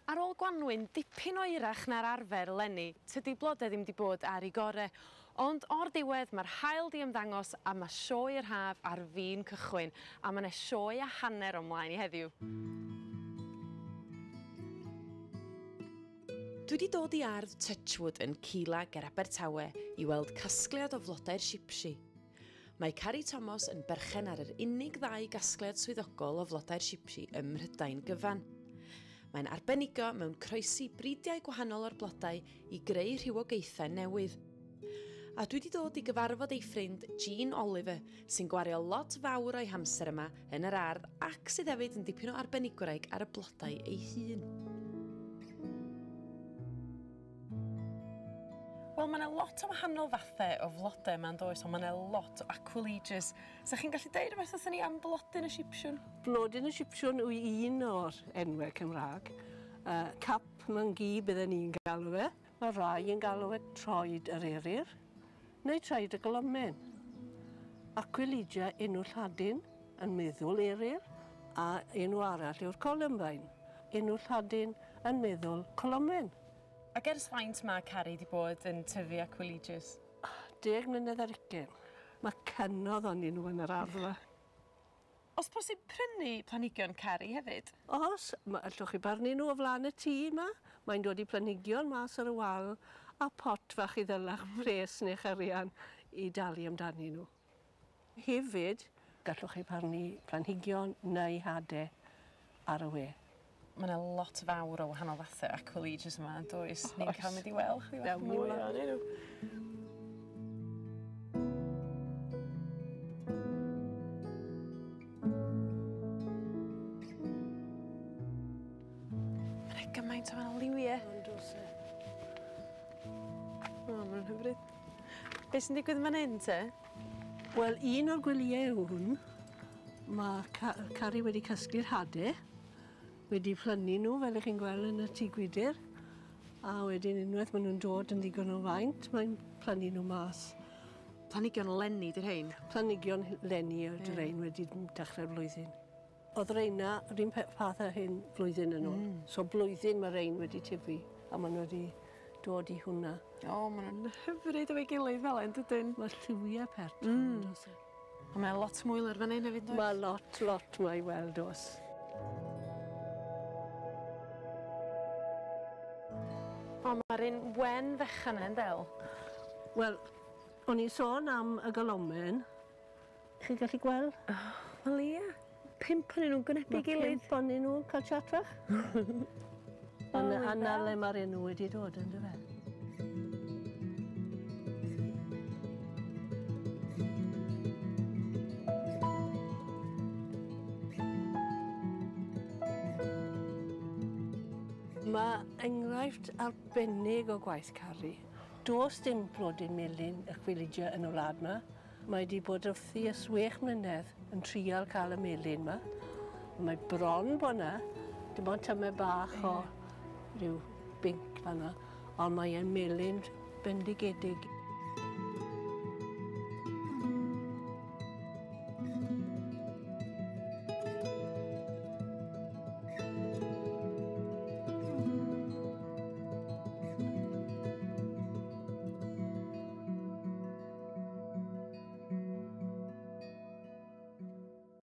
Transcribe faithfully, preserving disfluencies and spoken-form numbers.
Ar ôl gwanwyn dipyn oerach na'r arfer eleni, tydi blode ddim 'di bod ar ei gore, ond o'r diwedd mae'r haul 'di ymddangos a mae sioe yr haf ar fin cychwyn, a mae 'na sioe a hanner o mlaen i heddiw. Dwi 'di dod i ardd Touchwood yn Cila ger Abertawe i weld casgliad o flodau'r Sipsi. Mae Carrie Thomas yn berchen ar yr unig ddau gasgliad swyddogol o flodau'r Sipsi ym Mhrydain gyfan. Mae'n arbenigo mewn croesi bridiau gwahanol o'r blodau i greu rhywogaethau newydd. A dwi wedi dod i gyfarfod ei ffrind Jean Oliver, sy'n gwario lot fawr o'i hamser yma yn yr ardd ac sydd hefyd yn dipyn o arbenigwraig ar y blodau ei hun. Wel, mae yna lot o wahanol fathau o flodau yma yn does, ond mae yna lot o aquilegias. So chi'n gallu deud rhywbeth wrthon ni am blodyn y Sipsiwn? Blodyn y Sipsiwn yw un o'r enwau Cymraeg. Uh, cap myngi bydden ni'n galw fe. Mae rai yn galw fe troed yr eryr, neu troed y golomen. Aquilegia enw Lladin yn meddwl eryr, a enw arall yw'r columbine. Enw Lladin yn meddwl colomen. Ac ers faint mae Carrie wedi bod yn tyfu aquilegias? Deg mlynedd ar ugain. Mae cynnodd onyn nhw yn yr ardd yma. Os posib prynu planhigion Carrie hefyd? Os, allwch chi barnu nhw o flaen y tŷ yma. Mae'n dod i planhigion mas ar y wal a pot fach i ddylach pres neu'ch arian i dalu amdanyn nhw. Hefyd, gallwch chi barnu planhigion neu hadau ar y we. Mae yna lot fawr o wahanol fathau aquilegias yma, yn does? Ni'n cael mynd i weld chdi bach mwy ohonyn nhw. Mae yna gymaint o wahanol liwiau. Yn does e. O, maen nhw'n hyfryd. Be sy'n digwydd fan hyn, te? Wel, un o'r gwyliau yw hwn. Mae Carrie wedi casglu'r hadau, wedi plynu nhw, fel ych chi'n gweld yn y tŷ gwydr, a wedyn unwaith maen nhw'n dod yn ddigon o faint, mae'n plannu nhw mas. Planhigion leni 'di'r rhein? Planhigion leni ydy'r rhein wedi dechrau'r flwyddyn. Oedd reina yr un fath â hyn flwyddyn yn ôl. Mm. So blwyddyn mae rein wedi tyfu, a maen nhw wedi dod i hwnna. O, maen nhw'n hyfryd efo'i gilydd fel hyn, dydyn? Mae lliwiau pert. Mm. Ond mae lot mwy lawr fan hyn hefyd, does? Mae lot, lot mwy i weld, oes. O, mae'r un wen fechan yna'n del. Wel, o'n i'n sôn am y golomen. Chi'n gallu gweld? Oh, wel ia. Pump ohonyn nhw'n gwynebu gilydd. Pump ohonyn nhw'n cael chat fach. A na le mae'r enw wedi dod, yn dyfe? Mae enghraifft arbennig o gwaith Carrie. Does dim blodyn melyn aquilegia yn y wlad yma. Mae wedi bod wrthi ers chwech mlynedd yn trial cael y melyn yma. Mae bron bod yna, dim ond tymed bach o ryw binc fan'na, ond mae e'n melyn bendigedig.